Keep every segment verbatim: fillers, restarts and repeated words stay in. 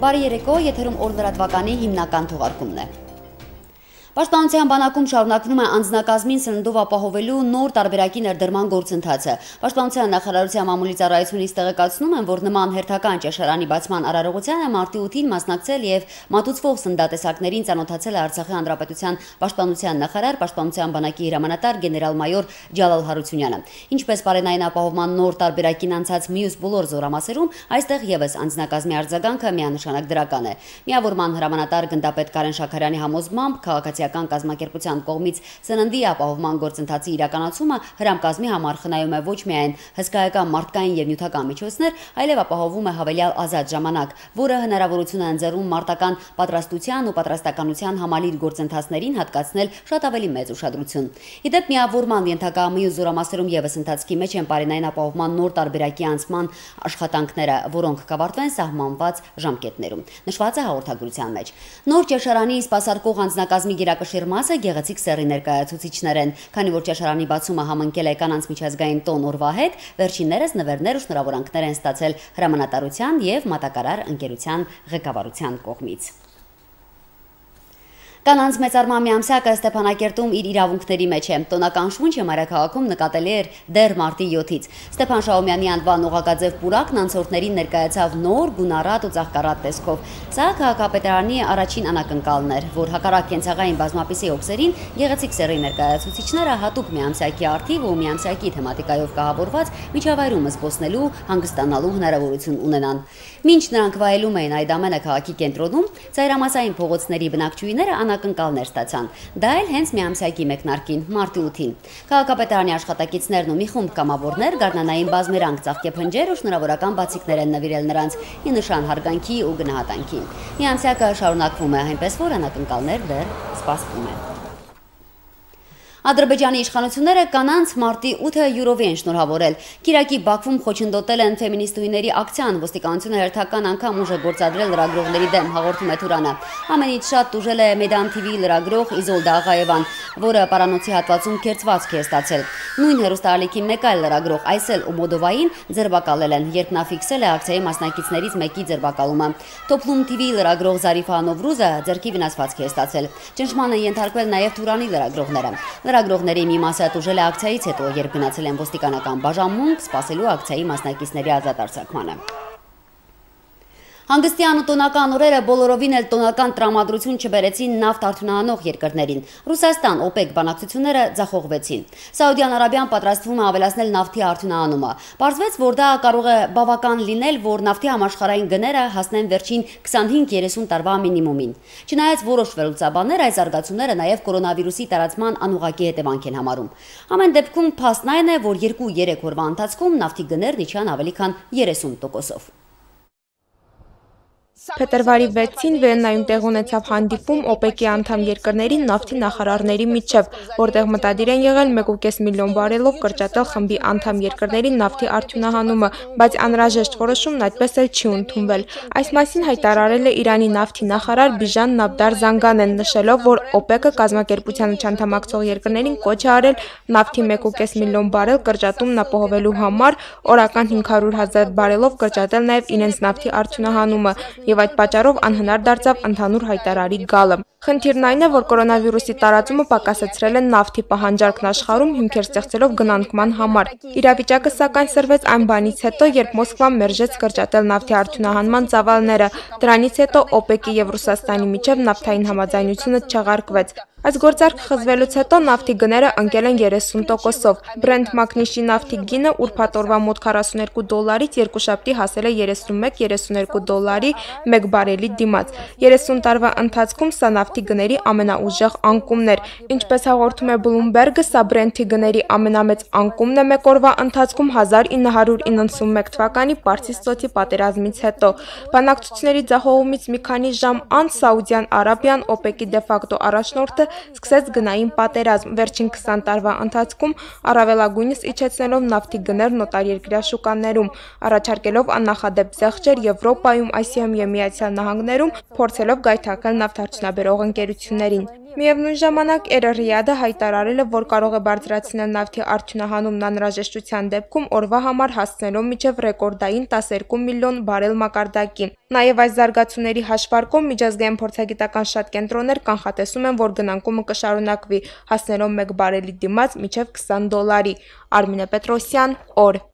Բարի երեկո, եթերում օր լրատվականի հիմնական թողարկումն է։ Պաշտպանության բանակում շարունակվում է անձնակազմին սննդով ապահովելու նոր տարբերակի ներդրման գործընթացը։ Պաշտպանության նախարարության մամուլի ծառայությունից տեղեկացնում են, որ նման հերթական ճաշարանի բացման արարողությանը մարտի ութին մասնակցել եւ մատուցվող սննդատեսակներին ծանոթացել է Արցախի Հանրապետության պաշտպանության նախարար, պաշտպանության բանակի հրամանատար գեներալ-մայոր Ջալալ Հարությունյանը։ Ինչպես պարենային ապահովման նոր տարբերակին անցած մյուս բոլոր զորամասերում, այստեղ եւս անձնակազմի արձագանքը միանշանակ դրական է։ Միավորման հրամանատար գնդապետ Կարեն Շաքարյանի համոզմամբ քաղաքացիական կազմակերպության կողմից սննդի ապահովման գործընթացի իրականացումը հրամկազմի համար խնայում է ոչ միայն հսկայական մարդկային եւ նյութական միջոցներ, այլև ապահովում է հավելյալ ազատ ժամանակ, որը հնարավորություն է ընձեռում մարտական պատրաստության ու պատրաստականության համալիր գործընթացներին հատկացնել շատ ավելի մեծ ուշադրություն։ Իդեպ միավորման ենթակա մյուս զորամասերում եւս ընթացքի մեջ են պարենային ապահովման նոր տարբերակի անցման աշխատանքները, որոնք կավարտվեն սահմանված ժամկետներում։ Նշված է հաղորդագրության մեջ։ Նոր ճաշարանի սպասարկող անձնակազմի գերակշիռ մասը գեղեցիկ սեռի ներկայացուցիչներ են, քանի որ ճաշարանի բացումը համընկել է կանանց միջազգային տոն օրվա հետ, վերջիններս նվերներ ու շնորհավորանքներ են ստացել հրամանատարության եւ մատակարար ընկերության ղեկավարության կողմից։ Կանանց մեծարման միամսյակը Ստեփանակերտում իր իրավունքների մեջ է։ Տոնական շունչը մայրաքաղաքում նկատելի էր դեռ մարտի յոթից։ Ստեփան Շահումյանի անվան օղակաձև պուրակն անցորդներին ներկայացավ նոր, գունառատ ու ծաղկառատ տեսքով։ Սա քաղաքապետարանի առաջին անակնկալն էր, որ հակառակ կենցաղային բազմապիսի օքսերին գեղեցիկ սեռի ներկայացուցիչները հատուկ միամսյակի արդիվ ու միամսյակի թեմատիկայով կահավորված միջավայրում զբոսնելու, հանգստանալու հնարավորություն ունենան։ Մինչ նրանք վայելում էին այդ ամենը քաղաքի կենտրոնում, ծայրամասային փողոցների բնակչուհիները անակնկալներ ստացան։ Դա էլ հենց միամսյակի մեկնարկին, մարտի ութին։ Քաղաքապետարանի աշխատակիցներն ու մի խումբ կամավորներ գարնանային բազմերանք ծաղկեփնջեր ու շնորհավորական բացիկներ են նվիրել նրանց՝ ի նշան հարգանքի ու գնահատանքի։ Միամսյակը շարունակվում է, այնպես որ անակնկալներ դեռ սպասվում են։ Ադրբեջանի իշխանությունները կանանց մարտի ութը յուրովի են շնորհավորել։ Կիրակի Բաքվում խոչընդոտել են ֆեմինիստուհիների ակցիան, ոստիկանությունը հերթական անգամ ուժ է գործադրել լրագրողների դեմ, հաղորդում է Թուրանը։ Ամենից շատ տուժել է Մեդան թի վի լրագրող Իզոլդա Աղաևան, որը պարանոցի հատվածում քերծվածք է ստացել։ Նույն հեռուստաալիքի մեկ այլ լրագրող Այսել Օմոդովային ձերբակալել են, երբ նա ֆիքսել է ակցիայի մասնակիցներից մեկի ձերբակալումը։ Տոփլում թի վի լրագրող Զարիֆա Նովրուզը ձեռքի վնասվածք է ստացել։ Ճնշման են ենթարկվել նաև Թուրանի լրագրողները։ Լրագրողների մի մասը տուժել է ակցիայից հետո, երբ գնացել են ոստիկանական բաժանմունք սպասելու ակցիայի մասնակիցների ազատ արձակմանը։ Հանգստյան ու տոնական օրերը բոլորովին էլ տոնական տրամադրություն չբերեցին նավթ արդյունահանող երկրներին։ Ռուսաստան օպեկ բանակցությունները ձախողվեցին։ Սաուդյան Արաբիան պատրաստվում է ավելացնել նավթի արդյունահանումը։ Պարզվեց, որ դա կարող է բավական լինել, որ նավթի համաշխարհային գները հասնեն վերջին քսանհինգ երեսուն տարվա մինիմումին։ Չնայած որոշ վերլուծաբաններ այս զարգացումները նաև կորոնավիրուսի տարածման անուղղակի հետևանք են համարում։ Ամեն դեպքում փաստն այն է, որ երկու-երեք օրվա ընթացքում նավթի գներն իջան ավելի քան երեսուն տոկոսով։ Փետրվարի վեցին Վիեննայում տեղ ունեցավ հանդիպում օպեկի անդամ երկրների նավթի նախարարների միջև, որտեղ մտադիր են եղել մեկ ու կես միլիոն բարելով կրճատել խմբի անդամ երկրների նավթի արդյունահանումը, բայց անհրաժեշտ որոշումն այդպես էլ չի ընդունվել։ Այս մասին հայտարարել է Իրանի նավթի նախարար Բիժան Նաբդար Զանգանեն, նշելով, որ օպեկը կազմակերպությանը չանդամակցող երկրներին կոչ է արել նավթի մեկ ու կես միլիոն բարել կրճատումն ապահովելու համար օրական հինգ հարյուր հազար բարելով կրճատել նաև իրենց նավթի արդյունահանումը, եւ այդ պատճառով անհնար դարձավ ընդհանուր հայտարարի գալը։ Խնդիրն այն է, որ կորոնավիրուսի տարածումը պակասեցրել է նավթի պահանջարկն աշխարհում հիմքեր ստեղծելով գնանկման համար։ Իրավիճակը սակայն սրվեց այն բանից հետո, երբ Մոսկվան մերժեց կրճատել նավթի արդյունահանման ծավալները։ Դրանից հետո օպեկի եւ Ռուսաստանի միջև նավթային համաձայնությունը չեղարկվեց։ Այս գործարքը խզվելուց հետո նավթի գները ընկել են երեսուն տոկոսով։ Brent մագնիշի նավթի գինը ուրբաթ օրվա մոտ քառասուներկու դոլարից երկուշաբթի հասել է երեսունմեկ երեսուներկու դոլարի մեկ բարելի դիմաց։ երեսուն տարվա ընթացքում սա նավթի գների ամենաուժեղ անկումն էր։ Ինչպես հաղորդում է Bloomberg-ը, սա Brent-ի գների ամենամեծ անկումն է մեկ օրվա ընթացքում հազար ինը հարյուր իննսունմեկ թվականի Պարսից ծոցի պատերազմից հետո։ Բանակցությունների ձախողումից մի քանի ժամ անց Սաուդյան Արաբիան օպեկի դեֆակտո առաջնորդը սկսեց գնային պատերազմ, վերջին քսան տարվա ընթացքում առավելագույնս իջեցնելով նավթի գներն օտարերկրյա շուկաներում, առաջարկելով աննախադեպ զեղչեր Եվրոպայում, Ասիայում եւ Միացյալ Նահանգներում, փորձելով գայթակղել նավթարդյունաբերող ընկերություններին։ Միևնույն ժամանակ Էր-Ռիադը հայտարարել է, որ կարող է բարձրացնել նավթի արդյունահանումն անհրաժեշտության դեպքում օրվա համար հասցնելով մինչև ռեկորդային տասներկու միլիոն բարել մակարդակի։ Նաև այս զարգացումների հաշվարկով միջազգային փորձագիտական շատ կենտրոններ կանխատեսում են, որ գնանկումը կշարունակվի, հասնելով մեկ բարելի դիմաց մինչև քսան դոլարի։ Արմինե Պետրոսյան, օր։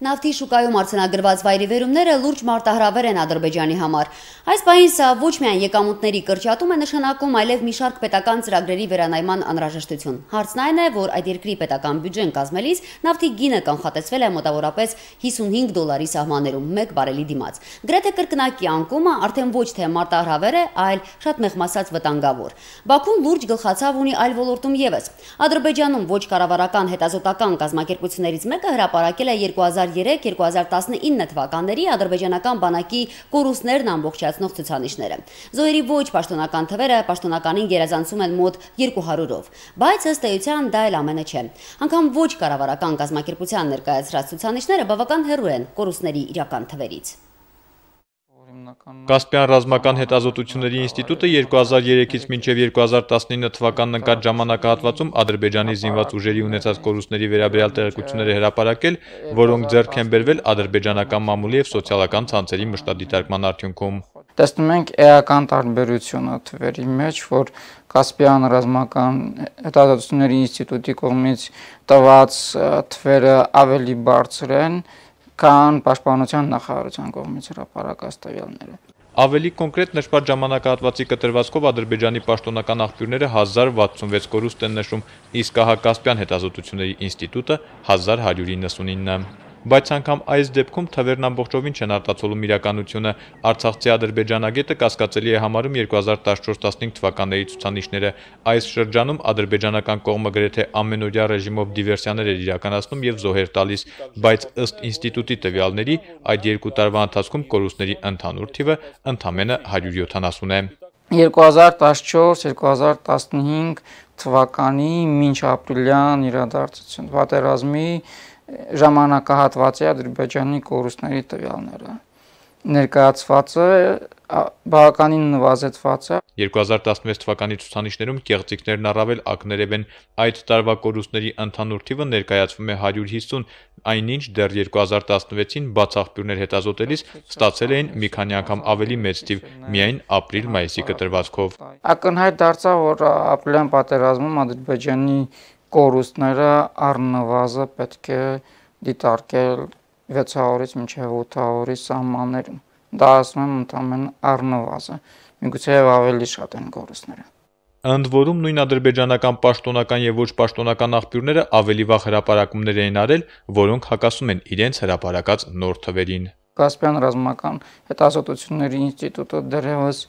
Նավթի շուկայում արձանագրված վայրիվերումները լուրջ մարտահրավեր են Ադրբեջանի համար։ Այս պահին սա ոչ միայն եկամուտների կրճատում է նշանակում, այլև մի շարք պետական ծրագրերի վերանայման անհրաժեշտություն։ Հարցն այն է, որ այդ երկրի պետական բյուջեն կազմելիս նավթի գինը կանխատեսվել է մոտավորապես հիսունհինգ դոլարի սահմաններում մեկ բարելի դիմաց։ Գրեթե կրկնակի անկումը արդեն ոչ թե մարտահրավեր է, այլ շատ մեղմասած վտանգավոր։ Բաքուն լուրջ գլխացավ ունի այլ ոլորտում ևս։ Ադրբեջանում ոչ կառավարական հետազոտական կազմակերպություններից մեկը հրապարակել է երկու հազար երեք երկու հազար տասնինը թվականների ադրբեջանական բանակի կորուստներն ամբողջացնող ցուցանիշները։ Զոհերի ոչ պաշտոնական թվերը պաշտոնականին գերազանցում են մոտ երկու հարյուրով, բայց ըստ էության դա էլ ամենը չէ։ Անգամ ոչ կառավարական կազմակերպության ներկայացրած ցուցանիշները բավական հեռու են կորուստների իրական թվերից։ Կասպյան ռազմական հետազոտությունների ինստիտուտը երկու հազար երեքից մինչև երկու հազար տասնինը թվականն ընկած ժամանակահատվածում Ադրբեջանի զինված ուժերի ունեցած կորուստների վերաբերյալ տեղեկություններ է հրապարակել, որոնք ձեռք են բերվել ադրբեջանական մամուլի եւ սոցիալական ցանցերի մշտադիտարկման արդյունքում։ Տեսնում ենք էական տարբերությունը թվերի մեջ, որ Կասպյան ռազմական հետազոտությունների ինստիտուտի կողմից տված թվերը ավելի բարձր են, քան պաշտպանության նախարարության կողմից հրապարակած տվյալները։ Ավելի կոնկրետ նշված ժամանակահատվածի կտրվածքով Ադրբեջանի պաշտոնական աղբյուրները հազար վաթսունվեց կորուստ են նշում, իսկ ահա Կասպյան հետազոտությունների ինստիտուտը հազար հարյուր իննսունինը։ Բայց անգամ այս դեպքում թվերն ամբողջովին չեն արտացոլում իրականությունը։ Արցախցի ադրբեջանագետը կասկածելի է համարում երկու հազար տասնչորս տասնհինգ թվականների ցուցանիշները։ Այս շրջանում ադրբեջանական կողմը գրեթե ամենօրյա ռեժիմով դիվերսիաներ էր իրականացնում եւ զոհեր տալիս, բայց ըստ ինստիտուտի տվյալների այդ երկու տարվա ընթացքում կորուստների ընդհանուր թիվը ընդամենը հարյուր յոթանասուն է։ երկու հազար տասնչորս երկու հազար տասնհինգ թվականի մինչ ապրիլյան իրադարձություն պատերազմի ժամանակահատվածի Ադրբեջանի կորուստների տվյալները ներկայացվածը բավականին նվազեցված է։ երկու հազար տասնվեց թվականի ցուցանիշներում կեղծիքներն առավել ակներև են։ Այդ տարվա կորուստների ընդհանուր թիվը ներկայացվում է հարյուր հիսուն, այնինչ դեռ երկու հազար տասնվեցին բաց աղբյուրներ հետազոտելիս ստացել էին մի քանի անգամ ավելի մեծ թիվ միայն ապրիլ-մայիսի կտրվածքով։ Ակնհայտ դարձավ, որ ապրիլյան պատերազմում Ադրբեջանի կորուստները առնվազն պետք է դիտարկել վեցսուն մինչև ութսուն սահմաններում։ Դա ասում եմ ընդամենը առնվազն, միգուցե ավելի շատ են կորուստները։ Ընդ որում նույն ադրբեջանական պաշտոնական եւ ոչ պաշտոնական աղբյուրները ավելի վաղ հրապարակումներ էին արել, որոնք հակասում են իրենց հրապարակած նոր թվերին։ Կասպյան ռազմական հետազոտությունների ինստիտուտը դեռևս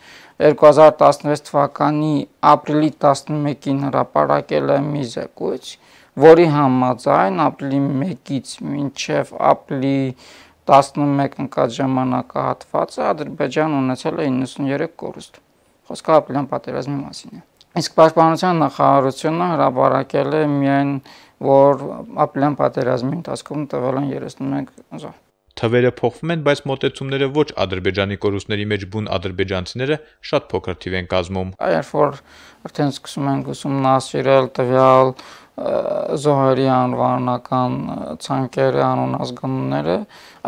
երկու հազար տասնվեց թվականի ապրիլի տասնմեկին հրապարակել է մի զեկույց, որի համաձայն ապրիլի մեկից մինչև ապրիլի տասնմեկ ընկած ժամանակահատվածը Ադրբեջանը ունեցել է իննսունյերեք կորուստ։ Խոսքը ապրիլյան պատերազմի մասին է։ Իսկ պաշտպանության նախարարությունը հրապարակել է միայն, որ ապրիլյան պատերազմի ընթացքում տվել են երեսունմեկ զոհ։ Թվերը փոխվում են, բայց մոտեցումները ոչ ադրբեջանի կորուստների մեջ բուն ադրբեջանցիները շատ փոքր թիվ են կազմում։ Երբ որ արդեն սկսում ենք ուսումնասիրել տվյալ զոհերի անվանական ցանկերը, անունազգանունները,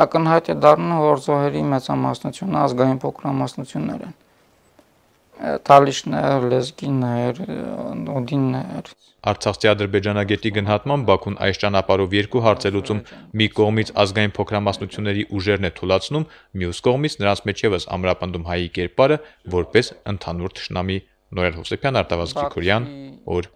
ակնհայտ է դառնում, որ զոհերի մեծամասնությունը ազգային փոքրամասնություններ են։ Թալիշներ, լեզգիներ, օդիններ։ Արցախցի ադրբեջանագետի գնահատմամբ Բաքուն այս ճանապարհով երկու հարց է լուծում՝ մի կողմից ազգային փոքրամասնությունների ուժերն է թուլացնում, մյուս կողմից նրանց մեջ եւս ամրապնդում հայի կերպարը որպես ընդհանուր թշնամի։ Նորեր Հովսեփյան, Արտավազդ Գրիգորյան, օր։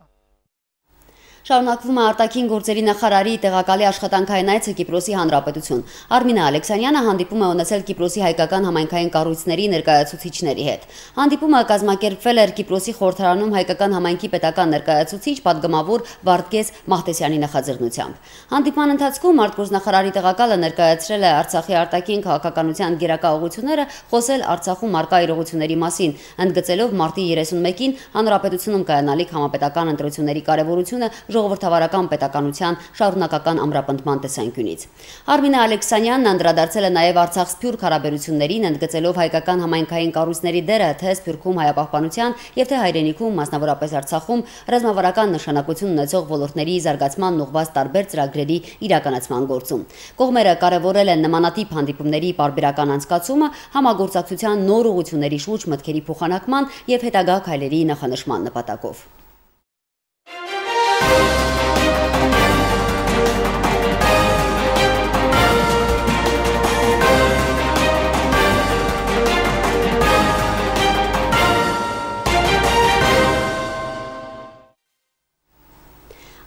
Շարունակվում է արտաքին գործերի նախարարի տեղակալի աշխատանքային այցը Կիպրոսի Հանրապետություն։ Արմինե Ալեքսանյանը հանդիպում է ունեցել Կիպրոսի հայկական համայնքային կառույցների ներկայացուցիչների հետ։ Հանդիպումը կազմակերպվել էր Կիպրոսի խորհրդարանում հայկական համայնքի պետական ներկայացուցիչ պատգամավոր Վարդգես Մահտեսյանի նախաձեռնությամբ։ Հանդիպման ընթացքում արտգործնախարարի տեղակալը ներկայացրել է Արցախի արտաքին քաղաքականության գերակա ուղղությունները, խոսել Արցախում առկա իրողությունների մասին, ընդգծելով մարտի երեսունմեկին հանրապետությունում կայանալիք համապետական ընտրությունների կարևորությունը, ժողովրդավարական պետականության շարունակական ամրապնդման տեսանկյունից։ Արմինե Ալեքսանյանն անդրադարձել է նաև Արցախ-Սփյուռք հարաբերություններին, ընդգծելով հայկական համայնքային կառույցների դերը թե Սփյուռքում հայապահպանության եւ թե հայրենիքում, մասնավորապես Արցախում, ռազմավարական նշանակություն ունեցող ոլորտների զարգացման ուղղված տարբեր ծրագրերի իրականացման գործում։ Կողմերը կարևորել են նմանատիպ հանդիպումների պարբերական անցկացումը, համագործակցության նոր ուղղությունների շուրջ մտքերի փոխանակման եւ հետագա քայլերի նախանշման նպատակով։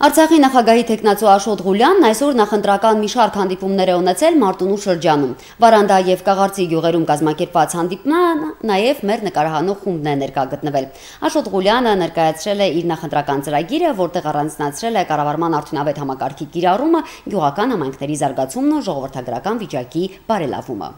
Արցախի նախագահի թեկնածու Աշոտ Ղուլյանն այսօր նախընտրական մի շարք հանդիպումներ է ունեցել Մարտունու շրջանում։ Վարանդա եւ Կաղարծի գյուղերում կազմակերպված հանդիպման նաև մեր նկարահանող խումբն է ներկա գտնվել։ Աշոտ Ղուլյանը ներկայացրել է իր նախընտրական ծրագիրը, որտեղ առանձնացրել է կառավարման արդյունավետ համակարգի կիրառումը, գյուղական համայնքների զարգացումն ու ժողովրդագրական վիճակի բարելավումը։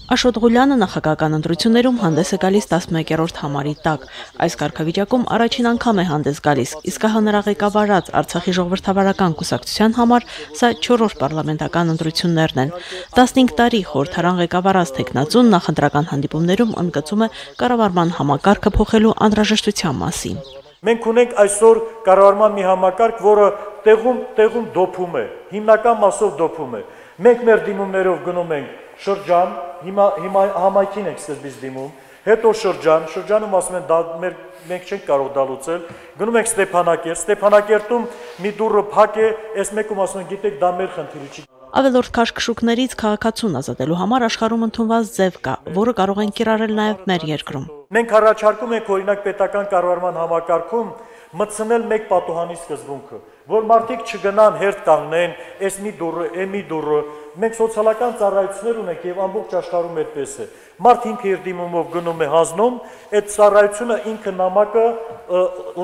Աշոտ Ղուլյանը նախագահական ընտրություններում հանդես է գալիս տասնմեկերորդ համարի տակ։ Այս կարգավիճակում առաջին անգամ է հանդես գալիս, իսկ հա նրա ղեկավարած Արցախի ժողովրդավարական կուսակցության համար սա չորրորդ պարլամենտական ընտրություններն են։ տասնհինգ տարի խորհրդարան ղեկավարած թեկնածուն նախընտրական հանդիպումներում ընդգծում է կառավարման համակարգը փոխելու անհրաժեշտության մասին։ Մենք ունենք այսօր կառավարման մի համակարգ, որը տեղում տեղում դոփում է, հիմնական մասով դոփում է։ Մենք մեր դիմումներով գնում ենք շրջան, հիմա հիմա համայնքին ենք սկզբից դիմում, հետո շրջան, շրջանում ասում են դա մեր մենք չենք կարող դա լուծել, գնում ենք Ստեփանակերտ, Ստեփանակերտում մի դուռը փակ է, այս մեկում ասում են գիտեք դա մեր խնդիրը չի։ Ավելորդ քաշքշուկներից քաղաքացուն ազատելու համար աշխարհում ընդունված ձև կա, որը կարող են կիրառել նաև մեր երկրում։ Մենք առաջարկում ենք օրինակ պետական կառավարման համակարգում մտցնել մեկ պատուհանի սկզբունքը, որ մարդիկ չգնան հերթ կանգնեն, այս մի դուռը, է մի դուռը, մենք սոցիալական ծառայություններ ունենք եւ ամբողջ աշխարհում այդպես է։ Մարդ ինքը իր դիմումով գնում է հանձնում, այդ ծառայությունը ինքը նամակը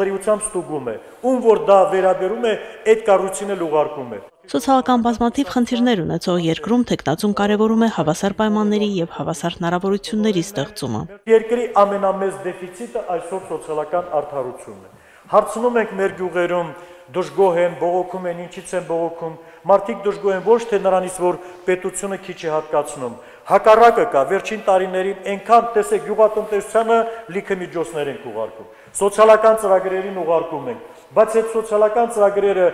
լրիվությամբ ստուգում է, ում որ դա վերաբերում է, այդ կառույցին էլ ուղարկում է։ Սոցիալական բազմաթիվ խնդիրներ ունեցող երկրում թեկնածուն կարևորում է հավասար պայմանների եւ հավասար հնարավորությունների ստեղծումը։ Երկրի ամենամեծ դեֆիցիտը այսօր սոցիալական արդարությունն է։ Հարցնում ենք մեր գյուղերում դժգոհ են, բողոքում են, ինչից են բողոքում։ Մարդիկ դժգոհ են ոչ թե նրանից, որ պետությունը քիչ է հատկացնում։ Հակառակը կա, վերջին տարիներին այնքան տեսեք գյուղատնտեսությանը լիքը միջոցներ ենք ուղարկում։ Սոցիալական ծրագրերին ուղարկում ենք, բայց այդ սոցիալական ծրագրերը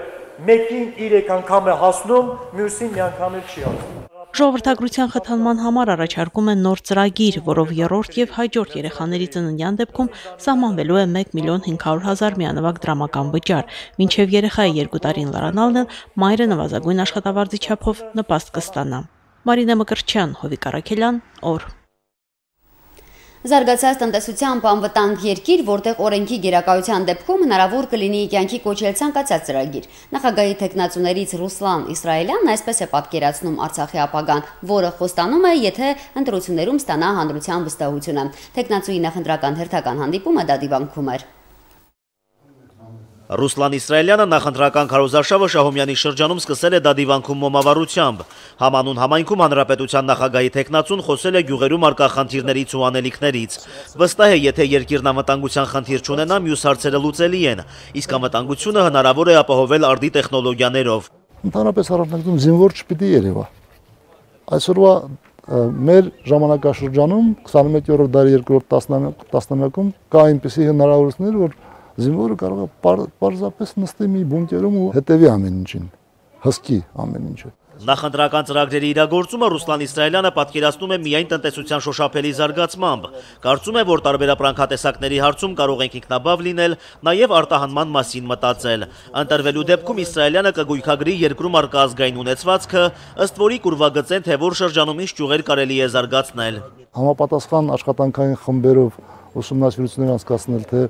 մեկին երեք անգամ է հասնում, մյուսին մի անգամ էլ չի հասնում։ Ժողովրդագրության խթանման համար առաջարկում են նոր ծրագիր, որով երրորդ եւ հաջորդ երեխաների ծննդյան դեպքում սահմանվելու է մեկ միլիոն հինգ հարյուր հազար միանվագ դրամական վճար, մինչեւ երեխայի երկու տարին լրանալն էլ մայրը նվազագույն աշխատավարձի չափով նպաստ կստանա։ Մարինե Մկրտչյան, Հովիկ Արաքելյան, օր։ Զարգացած տնտեսությամբ անվտանգ երկիր, որտեղ օրենքի գերակայության դեպքում հնարավոր կլինի կյանքի կոչել ցանկացած ծրագիր։ Նախագահի թեկնածուներից Ռուսլան Իսրայելյանն այսպես է պատկերացնում Արցախի ապագան, որը խոստանում է, եթե ընտրություններում ստանա հանրության վստահությունը։ Թեկնածուի նախընտրական հերթական հանդիպումը դա դիվանքում էր։ Ռուսլան Իսրայելյանը նախընտրական քարոզարշավը Շահումյանի շրջանում սկսել է դա դիվանքում մոմավառությամբ։ Համանուն համայնքում հանրապետության նախագահի թեկնածուն խոսել է գյուղերում առկա խնդիրներից ու անելիքներից։ Վստահ է, եթե երկիրն անվտանգության խնդիր չունենա, մյուս հարցերը լուծելի են, իսկ անվտանգությունը հնարավոր է ապահովել արդի տեխնոլոգիաներով։ Ընդհանրապես առաջնակցում զինվոր չպիտի երևա։ Այսօրվա մեր ժամանակաշրջանում քսանմեկերորդ դարի երկրորդ տասնամյակում կա այնպիսի հնարավորություններ, որ զինվորը կարող է պարզապես նստի մի բունկերում ու հետևի ամեն ինչին, հսկի ամեն ինչը։ Նախընտրական ծրագրերի իրագործումը Ռուսլան Իսրայելյանը պատկերացնում է միայն տնտեսության շոշափելի զարգացմամբ։ Կարծում է, որ տարբերապրանքատեսակների հարցում կարող ենք ինքնաբավ լինել, նաև արտահանման մասին մտածել։ Ընտրվելու դեպքում Իսրայելյանը կգույքագրի երկրում առկա ազգային ունեցվածքը, ըստ որի կուրվագծեն, թե որ շրջանում ինչ ճյուղեր կարելի է զարգացնել։ Համապատասխան աշխատանքային խմբերով ուսումնասիրություններ անցկացնել, թե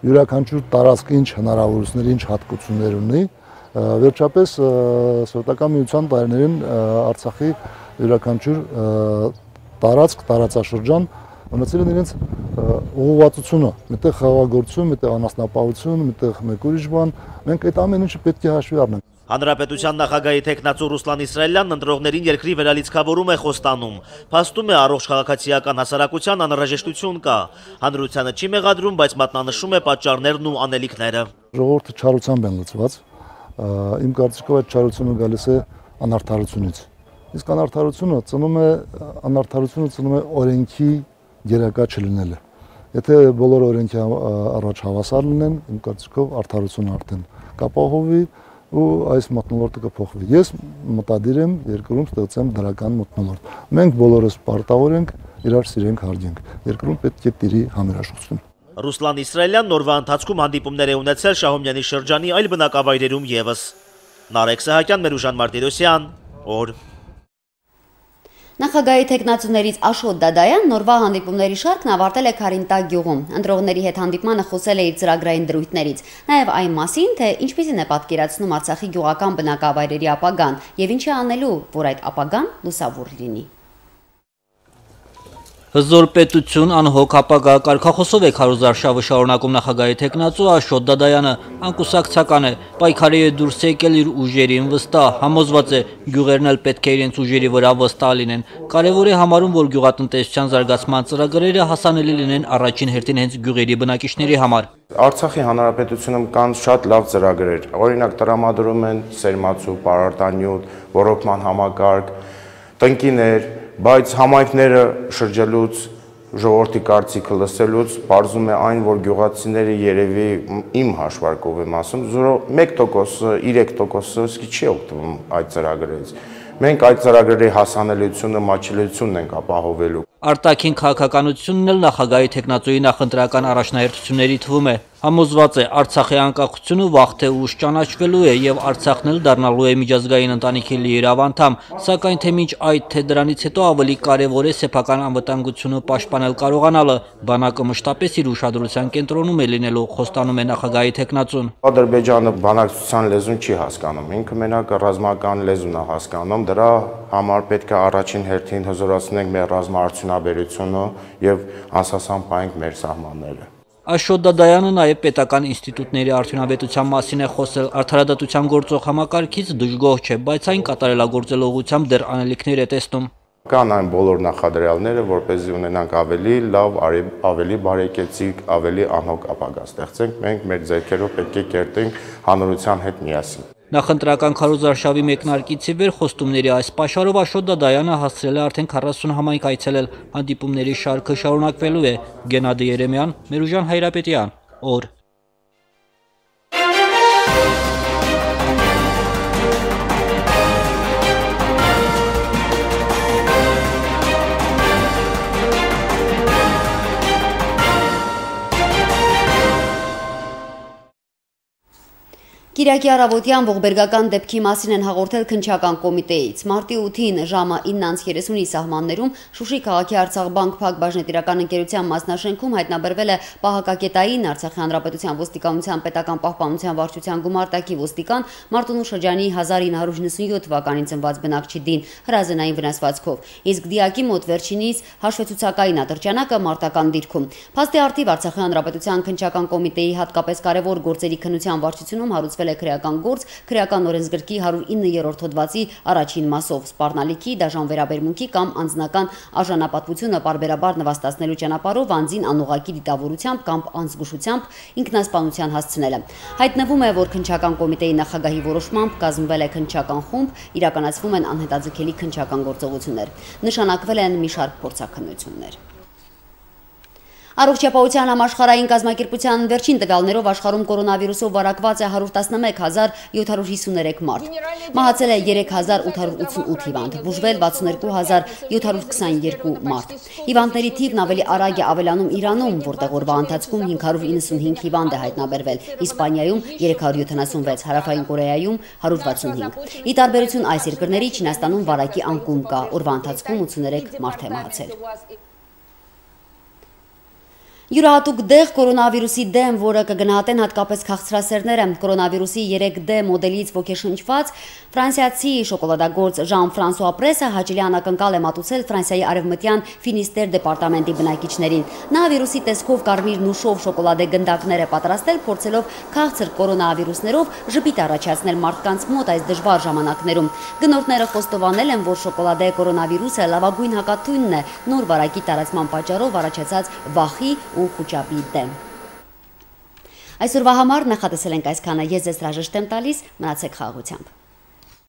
յուրաքանչյուր տարածք ինչ հնարավորություններ, ինչ հատկություններ ունի, վերջապես Սովետական միության տարիներին Արցախի յուրաքանչյուր տարածք, տարածաշրջան ունեցել են իրենց ուղղվածությունը, միտեղ խաղաղագործություն, միտեղ անասնապահություն, միտեղ մեկ ուրիշ բան, մենք այդ ամեն ինչը պետք է հաշվի առնենք։ Հանրապետության նախագահի տեխնացու Ռուսլան Իսրայելյանն ընտրողներին երկրի վերալիցքավորում է խոստանում։ Փաստում է առողջ քաղաքացիական հասարակության անհրաժեշտություն կա։ Հանրությանը չի մեղադրում, բայց մատնանշում է պատճառներն ու անելիքները։ Ժողովուրդը չարությամբ են լցված։ Իմ կարծիքով այդ չարությունը գալիս է անարդարությունից։ Իսկ անարդարությունը ծնում է անարդարությունը ծնում է օրենքի գերակա չլինելը։ Եթե բոլոր օրենքի առաջ հավասար լինեն, իմ կարծիքով արդարությունը արդեն կապահովվի ու այս մթնոլորտը կփոխվի։ Ես մտադիր եմ երկրում ստեղծեմ դրական մթնոլորտ։ Մենք բոլորս պարտավոր ենք իրար սիրենք, հարգենք։ Երկրում պետք է տիրի համերաշխություն։ Ռուսլան Իսրայելյան նորվա ընթացքում հանդիպումներ է ունեցել Շահումյանի շրջանի այլ բնակավայրերում եւս։ Նարեկ Սահակյան, Մերուժան Մարտիրոսյան, օր։ Նախագահի տեխնացուներից Աշոտ Դադայան նորվա հանդիպումների շարքն ավարտել է Քարինտակ գյուղում։ Ընտրողների հետ հանդիպմանը խոսել է իր ծրագրային դրույթներից, նաև այն մասին, թե ինչպիսին է պատկերացնում Արցախի գյուղական բնակավայրերի ապագան եւ ինչ է անելու, որ այդ ապագան լուսավոր լինի։ Հզոր պետություն անհոգ ապագա կարգախոսով է քարոզարշավը շարունակում նախագահի տեխնացու Աշոտ Դադայանը, անկուսակցական է, պայքարի է դուրս եկել իր ուժերին վստահ, համոզված է գյուղերն էլ պետք է իրենց ուժերի վրա վստահ լինեն։ Կարևոր է համարում, որ գյուղատնտեսության զարգացման ծրագրերը հասանելի լինեն առաջին հերթին հենց գյուղերի բնակիչների համար։ Արցախի հանրապետությունում կան շատ լավ ծրագրեր, օրինակ տրամադրում են սերմացու, պարարտանյութ, ոռոգման համակարգ, տնկիներ, բայց համայնքները շրջելուց, ժողովրդի կարծիքը լսելուց պարզում է այն, որ գյուղացիները երևի իմ հաշվարկով եմ ասում, մեկ տոկոսը, երեք տոկոսը չի օգտվում այդ ծրագրերից։ Մենք այդ ծրագրերի հասանելիությունը, մատչելիությունն ենք ապահովելու։ Արտաքին քաղաքականությունն էլ նախագահի տեխնացուի նախընտրական առաջնահերթությունների թվում է։ Համոզված է Արցախի անկախությունը վաղ թե ուշ ճանաչվելու է եւ Արցախն էլ դառնալու է միջազգային ընտանիքի լիիրավ անդամ, սակայն թե մինչ այդ թե դրանից հետո ավելի կարևոր է սեփական անվտանգությունը պաշտպանել կարողանալը։ Բանակը մշտապես իր ուշադրության կենտրոնում է լինելու, խոստանում է նախագահի տեխնացուն։ Ադրբեջանը բանակցության լեզուն չի հասկանում, ինքը մենակ ռազմական լեզուն է հասկանում, դրա համար պետք է առաջին հերթին հզորացնենք մեր ռազմաարդյունաբերությունը եւ անսասանփայինք մեր սահմանները։ Աշոտ Դադայանը նաև պետական ինստիտուտների արդյունավետության մասին է խոսել։ Արդարադատության գործող համակարգից դժգոհ չէ, բայց այն կատարելագործելու ուղղությամբ դեռ անելիքներ է տեսնում։ Կան այն բոլոր նախադրյալները, որպեսզի ունենանք ավելի լավ, ավելի բարեկեցիկ, ավելի անհոգ ապագա ստեղծենք, մենք մեր ձեռքերով պետք է կերտենք հանրության հետ միասին։ Նախընտրական քարոզարշավի մեկնարկից ի վեր խոստումների այս պաշարով Աշոտ Դադայանը հասցրել է արդեն քառասուն համայնք այցելել, հանդիպումների շարքը շարունակվելու է։ Գենադի Երեմյան, Մերուժան Հայրապետյան, օր։ Կիրակի առավոտյան ողբերգական դեպքի մասին են հաղորդել քննչական կոմիտեից։ Մարտի ութին ժամը ինը երեսունի սահմաններում Շուշի քաղաքի Արցախբանկ Փակ բաժնետիրական ընկերության մասնաշենքում հայտնաբերվել է պահակակետային Արցախի հանրապետության ոստիկանության պետական պահպանության վարչության գումարտակի ոստիկան Մարտունու շրջանի հազար ինը հարյուր նվաթ թվականին ծնված բնակչի Դին հրազենային վնասվածքով, իսկ դիակի մոտ վերջինիս հաշվետվուցակային ատրճանակը մարտական դիրքում։ Փաստի առթիվ Արցախի հանրապետության քննչական կոմիտեի հատկապես կարևոր գործերի քննության վարչությունում հարուցվել քրեական գործ քրեական օրենսգրքի հարյուր ինը-րդ հոդվածի առաջին մասով սպառնալիքի, դաժան վերաբերմունքի կամ անձնական արժանապատվությունը պարբերաբար նվաստացնելու ճանապարհով անձին անուղղակի դիտավորությամբ կամ անզգուշությամբ ինքնասպանության հասցնելը։ Հայտնվում է, որ քննչական կոմիտեի նախագահի որոշմամբ կազմվել է քննչական խումբ, իրականացվում են անհետաձգելի քննչական գործողություններ։ Նշանակվել են մի շարք փորձաքննություններ։ Առողջապահության համաշխարհային կազմակերպության վերջին տվյալներով աշխարհում կորոնավիրուսով վարակված է հարյուր տասնմեկ հազար յոթ հարյուր հիսուներեք մարդ։ Մահացել է երեք հազար ութ հարյուր ութսունութ հիվանդ, բուժվել վաթսուններկու հազար յոթ հարյուր քսաներկու մարդ։ Հիվանդների թիվն ավելի արագ է ավելանում Իրանում, որտեղ օրվա ընթացքում հինգ հարյուր իննսունհինգ հիվանդ է հայտնաբերվել, Իսպանիայում երեք հարյուր յոթանասունվեց, Հարավային Կորեայում հարյուր վաթսունհինգ։ Ի տարբերություն այս երկրների Չինաստանում վարակի անկում կա, օրվա ընթացքում ութսուներեք մարդ է մահացել։ Յուրահատուկ դեղ կորոնավիրուսի դեմ, որը կգնահատեն հատկապես քաղցրասերները, կորոնավիրուսի երեք դե մոդելից ոգեշնչված ֆրանսիացի շոկոլադագործ Ժան-Ֆրանսուଆ Պրեսը հաճելի անակնկալ է մատուցել Ֆրանսիայի արևմտյան Ֆինիստեր դեպարտամենտի բնակիչներին։ Նա վիրուսի տեսքով կարմիր նուշով շոկոլադե գնդակներ է պատրաստել, փորձելով քաղցր կորոնավիրուսներով ժպիտ առաջացնել մարդկանց մոտ այս դժվար ժամանակներում։ Գնորդները խոստովանել են, որ շոկոլադե կորոնավիրուսը լավագույն հակաթույնն է նոր վարակի տարածման պատճառով առաջացած վախի ու խուճապի դեմ։ Այսօրվա համար նախատեսել ենք այսքանը, ես ձեզ հրաժեշտ եմ տալիս, մնացեք խաղաղությամբ։